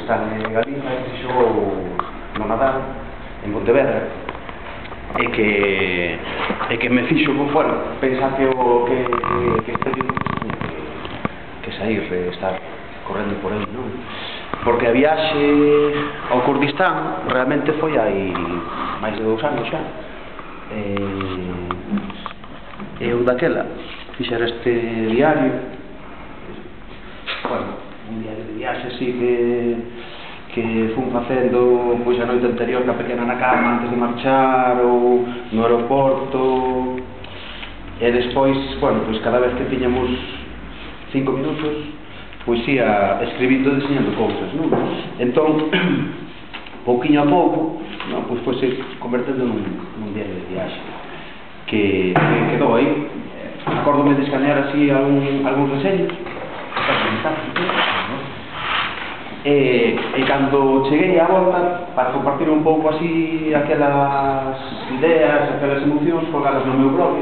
Kurdistán e Galiza, que se xogou no Nadal en Pontevedra, e que me fixo, bueno, pensar que este libro tiña que sair, estar correndo por aí, non? Porque a viaxe ao Kurdistán realmente foi hai máis de 2 anos xa. Eu daquela fixera este diario, bueno, un diario de viaxe así que fun facendo pois a noite anterior ca pequena na cama antes de marchar ou no aeroporto, e despois, bueno, pois cada vez que tiñamos 5 minutos pois ia escribindo e diseñando cousas, non? Entón, pouquiño a pouco, non, pois foi se convertendo nun diario de viaxe que quedou aí. Acórdome de escanear así algúns reseños e cando cheguei á volta para compartir un pouco así aquelas ideas, aquelas emocións colgadas no meu blog,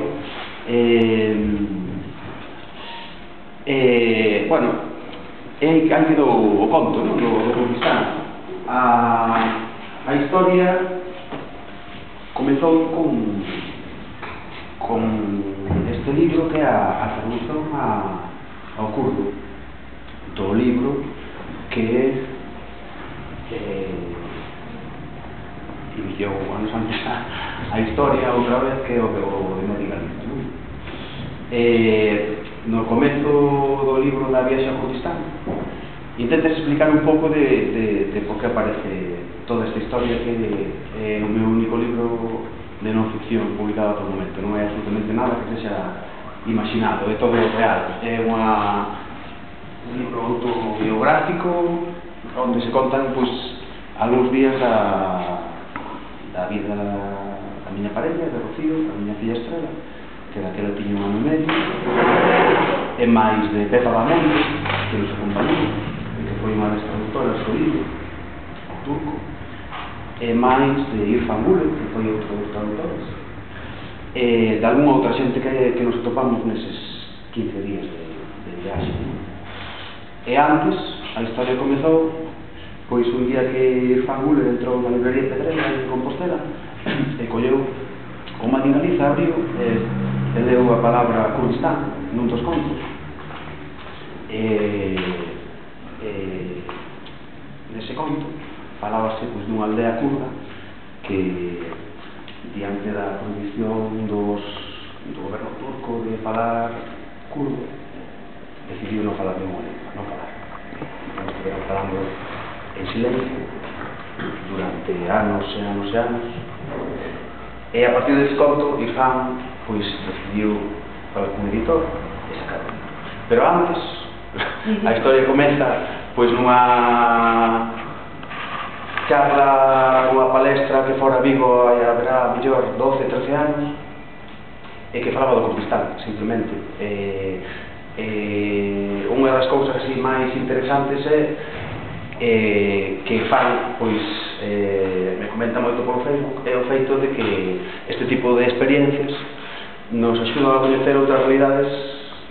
bueno, aí quedou o conto, non? Do Kurdistán. A historia comezou con este libro que é a traducción ao kurdo do libro que iniciou anos antes a historia outra vez que o de Medigaliza, non? No comezo do libro da viaxe ao Kurdistán intentas explicar un pouco de por que aparece toda esta historia que é o meu único libro de non ficción publicado ata o momento. Non é absolutamente nada que sexa imaginado, é todo real. É un libro autobiográfico onde se contan pois algúns días da vida da miña parella, de Rocío, da miña filla Estrela, que daquela tiña 1 ano e medio, e máis de Pepa Bamonte, que nos acompañou, que foi unha das traductoras do libro, turco, e máis de Irfan Gulen, que foi outro dos traductores, e de algunha outra xente que nos topamos neses 15 días de viaxe. E antes, a historia comezou pois un día que Irfan Gulen entrou na librería Pedrera en Compostela e colleu o Medigaliza, abriu e leu a palabra Kurdistán nun dos contos, nese conto falábase pois dunha aldea kurda que diante da prohibición do goberno turco de falar kurdo decidiu non falar ninguna lengua, non falar. Non estiveron falando en silencio durante anos e anos e anos, e a partir desse conto Irfan pois decidiu falar con o editor e sacarlo. Pero antes a historia comeza pois nunha charla, unha palestra que fora Vigo haberá mellor 12, 13 anos e que falaba do Kurdistán, simplemente. Unha das cousas así máis interesantes é que fan, pois, me comenta moito por Facebook, é o feito de que este tipo de experiencias nos axudan a coñecer outras realidades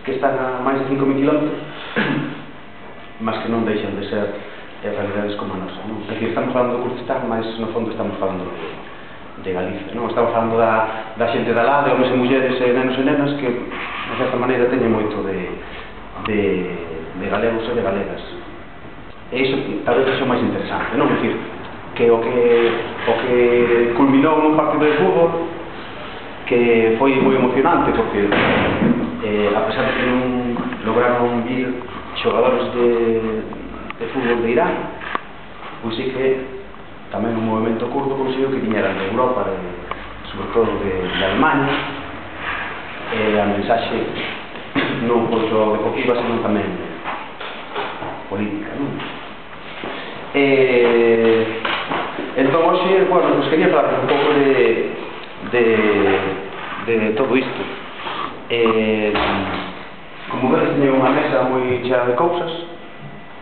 que están a máis de 5.000 km, mas que non deixan de ser realidades como a nosa, non? É dicir, estamos falando do Kurdistán, mas no fondo estamos falando de Galicia, non? Estamos falando da xente da lá, de homens e mulleres, nenos e nenas que, de certa maneira, teñen moito de galegos e de galegas. E iso talvez é o máis interesante, non? É dicir, que o que culminou nun partido de fútbol que foi moi emocionante porque a pesar de que non lograron vir xogadores de fútbol de Irán, pois sí que tamén un movimento kurdo conseguiu que viñeran de Europa, sobre todo de Alemanha, e a mensaxe non foi só deportiva, senón tamén política, non? Entón, hoxe, bueno, pues quería falar un pouco de todo isto. Como vedes, teño unha mesa moi chea de cousas,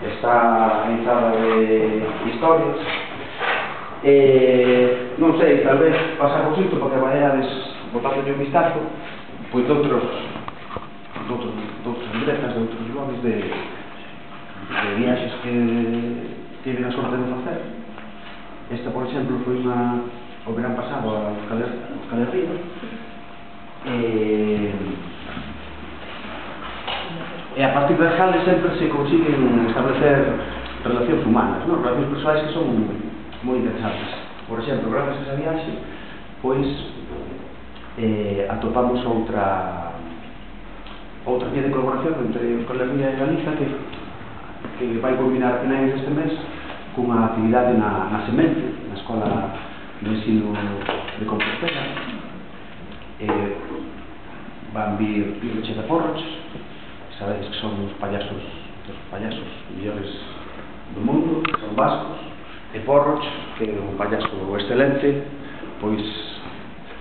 está organizada de historias, non sei, tal vez pasamos isto porque vayades botando un vistazo pois de outros libretas, de outros blogs de viaxes que tienen a súa Esta, por exemplo, foi o verán pasado a Euskal Herria, e a partir das cales sempre se consiguen establecer relacións humanas, non? Relacións persoais que son moi interesantes. Por exemplo, gracias a esa viaxe, pois atopamos outra vía de colaboración entre Euskal Herria e Galiza que vai combinar a finais deste mes cunha actividade na Semente, na Escola de Ensino de Compostela. Van vir Pirroche de Porroch, sabedes que son os payasos mellores do mundo, son vascos, e Porroch, que é un payaso excelente, pois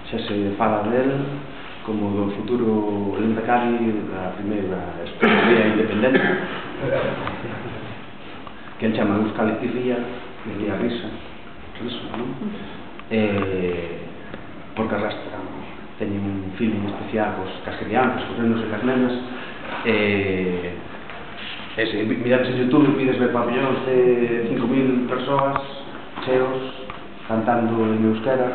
xa se fala del como do futuro Lehendakari da primeira España independente, que el chama Euskal Herria, e lia risa, non? Porque arrastran, teñen un feeling especial cas crianzas, cos nenos e cas nenas. Se mirades en YouTube, pides ver pabellóns de 5.000 persoas cheos cantando en euskera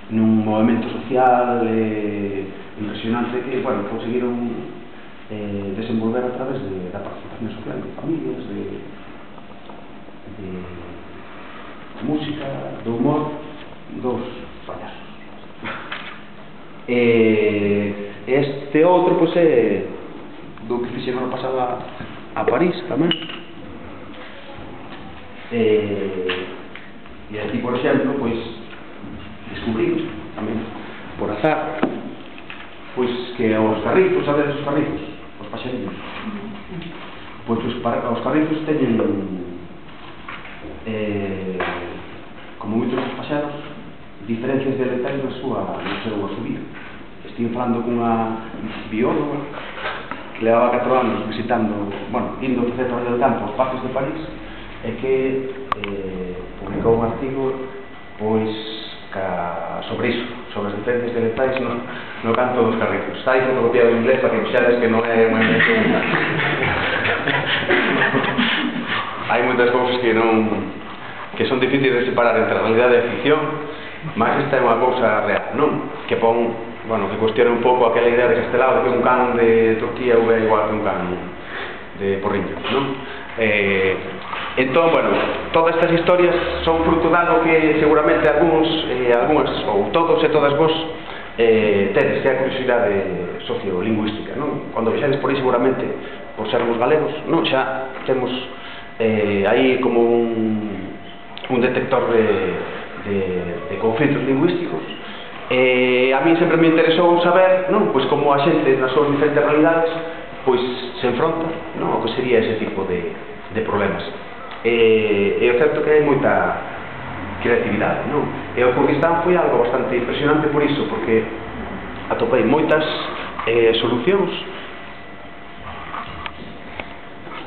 nun movimento social impresionante que, bueno, conseguiron desenvolver a través da participación social de familias, de música, do humor, dos payasos. Este outro, pois, é do que fixeron a pasada a París tamén. E aquí, por exemplo, pois descubrimos tamén por azar pois que os carrizos, sabedes os carrizos, os paxariños, pois os carrizos teñen como moitos dos paxaros diferencias dialectais no seu vida. Estive falando cunha bióloga que levaba 4 anos visitando, bueno, indo a facer traballo de campo aos parques de París, e que publicou un artigo pois sobre iso, sobre as diferencias dialectais no canto dos carrizos. Está aí fotocopiado en inglés para que vexades que non é moi hai moitas cousas que son difíciles de separar entre a realidade e a ficción, mas esta é unha cousa real, non? Que pon, bueno, que cuestiona un pouco aquela idea de Castelao de que un can de Turquía é igual que un can de Porriño, non? Entón, bueno, todas estas historias son fruto de algo que seguramente algúns, ou todos e todas vos tedes, que é a curiosidade sociolingüística, non? Cando vexades por aí, seguramente, por sermos galegos, non? Xa temos aí como un detector de conflitos lingüísticos. A mí sempre me interesou saber, non? Pois como a xente nas súas diferentes realidades pois se enfronta, non? O que sería ese tipo de problemas. É o certo que hai moita creatividade, non? E o Kurdistán foi algo bastante impresionante por iso, porque atopei moitas solucións,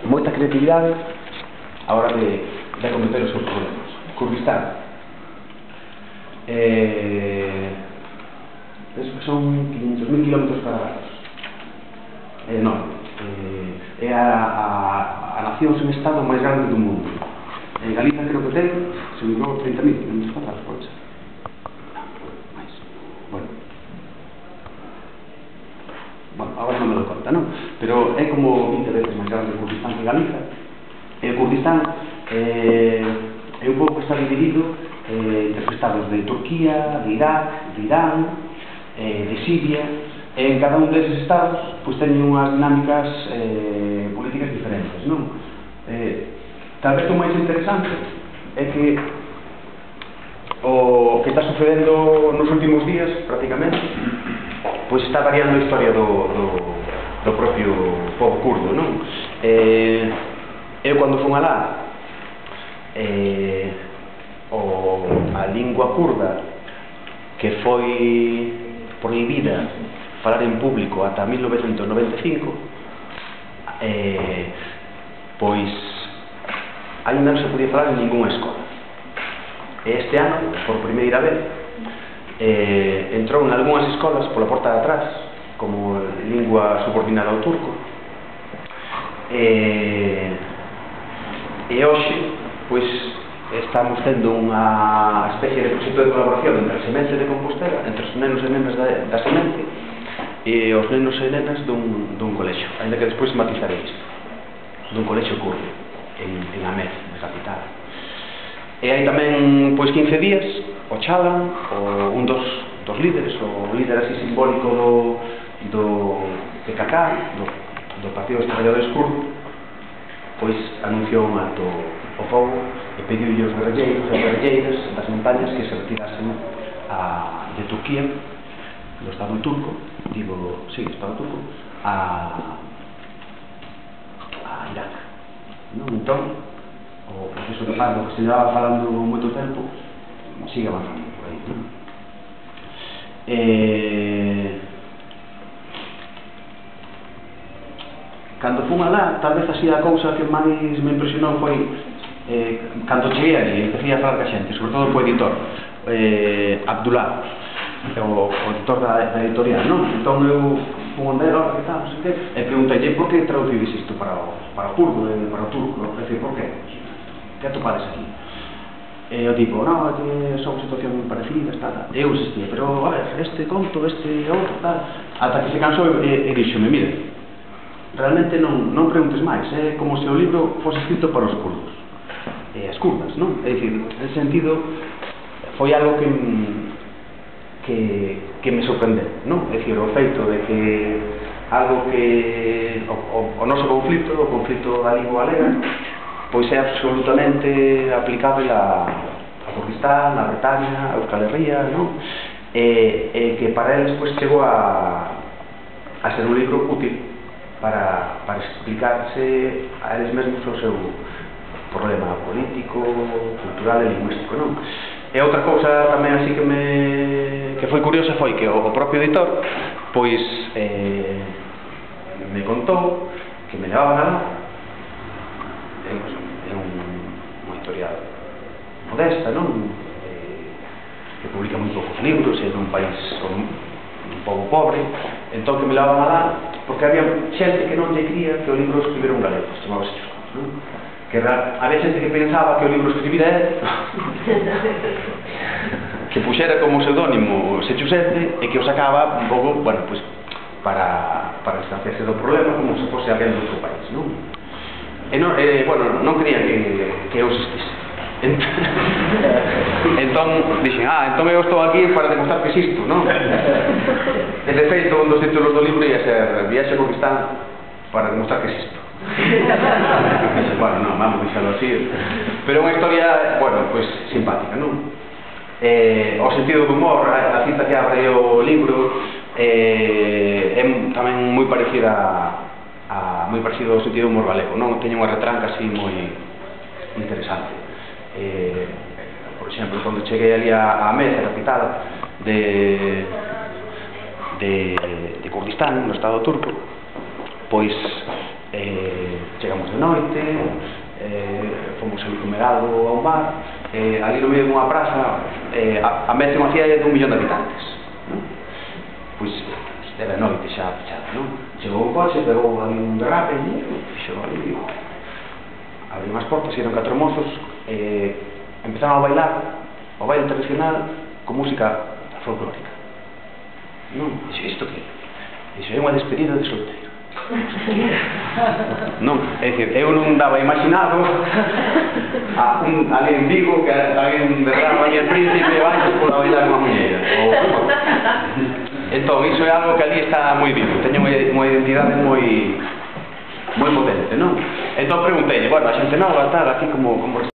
moita creatividade a hora de acometer os seus problemas. Kurdistán son 500.000 km cuadrados, é enorme, é a nación sen estado máis grande do mundo. En Galiza creo que ten, se me digo, 30.000 km cuadrados, pode ser. Mais. Bueno, agora non me lo conta, non? Pero é como 20 veces máis grande o Kurdistán que Galiza. E o Kurdistán é un pouco está dividido entre os estados de Turquía, de Irak, de Irán, de Siria, e en cada un deses estados pois teñen unhas dinámicas políticas diferentes, non? Tal vez o máis interesante é que o que está sucedendo nos últimos días, prácticamente, pois está variando a historia do propio povo kurdo, non? Eu cando fun alá, a lingua kurda que foi prohibida falar en público ata 1995, pois ainda non se podía falar en ninguna escola. E este ano, por primeira vez, entrou en algunhas escolas pola porta de atrás como lingua subordinada ao turco, e hoxe pois estamos tendo unha especie de proxecto de colaboración entre a Semente de Compostela, entre os nenos e nenas da Semente e os nenos e nenas dun colexo, ainda que despois matizarei isto, dun colexo kurdo en Amed, na capital. E hai tamén, pois, 15 días, o Chalan, un dos líderes, o líder así simbólico do PKK, do Partido dos Traballadores Kurdo, pois anunciou un alto o fogo e pediu aos guerrilleiros e guerrilleiras das montañas que se retirasen de Turquía, do Estado turco, Estado turco, a Irak. Entón, o proceso de paz do que se llevaba falando moito tempo sigue avanzando por aí. Cando fun alá, tal vez así a cousa que máis me impresionou foi cando cheguei ali e empecé a falar ca xente, sobre todo co editor Abdullah, o editor da editorial, non? Entón eu fun onde era, que tal, non sei que, e preguntei por que traducides isto para o kurdo e para o turco, é dicir, por que? Que atopades aquí? E eu digo, non, que son situacións moi parecidas, tal. E eu insistía, pero, a ver, este conto, este outro, tal. Ata que se cansou e dixome, mire, realmente non preguntes máis, é como se o libro fose escrito para os kurdos e as kurdas, non? É dicir, en sentido, foi algo que me sorprendeu, non? É dicir, o feito de que algo que o noso conflito, o conflito galego-galega, pois é absolutamente aplicável a Kurdistán, a Bretaña, a Euskal Herria, non? E que para eles pois chegou a ser un libro útil para explicarse a eles mesmos o seu problema político, cultural e lingüístico, non? E outra cousa tamén así que foi curiosa foi que o propio editor pois me contou que me levaban alá. É unha editorial modesta, non? Que publica moi poucos libros, é dun país un pouco pobre, entón que me levaban alá porque había xente que non lle cría que o libro escribira un galego, chamábase Chuscos, non? Que había xente que pensaba que o libro escribira él, que puxera como pseudónimo Sechusete e que o sacaba un pouco, bueno, pues para distanciarse do problema como se fose alguén do outro país, non? Bueno, non querían que eu existise. Entón, dixen, entón eu estou aquí para demostrar que existo, non? E de feito, un dos títulos do libro ia ser Viaxe a Kurdistán para demostrar que existo. Bueno, non, vamos deixalo así. Pero é unha historia, bueno, pois simpática, non? O sentido do humor, a cita que abre o libro é tamén moi parecida ao sentido do humor galego, non? Teño unha retranca así moi interesante. Por exemplo, cando cheguei ali a Amed, a capital de Kurdistán, no Estado turco, pois chegamos de noite, fomos ali comer algo a un bar, ali no medio dunha praza, Amed é unha cidade de 1 millón de habitantes, non? Pois era noite xa pechada, non? Chegou un coche, pegou ali un derrape e fixo ali, abriu unhas portas e eran 4 mozos, empezaron a bailar o baile tradicional con música folclórica, non? Dixo, isto que? Dixo, é unha despedida de solteiro. Non, é dicir, eu non daba imaginado ali en Vigo que alguén derrama aí el príncipe e baixo por a bailar unha muñeira. Entón, iso é algo que ali está moi vivo, teño unha identidade moi potente, non? Entón preguntei, bueno, a xente nova, tal, aquí como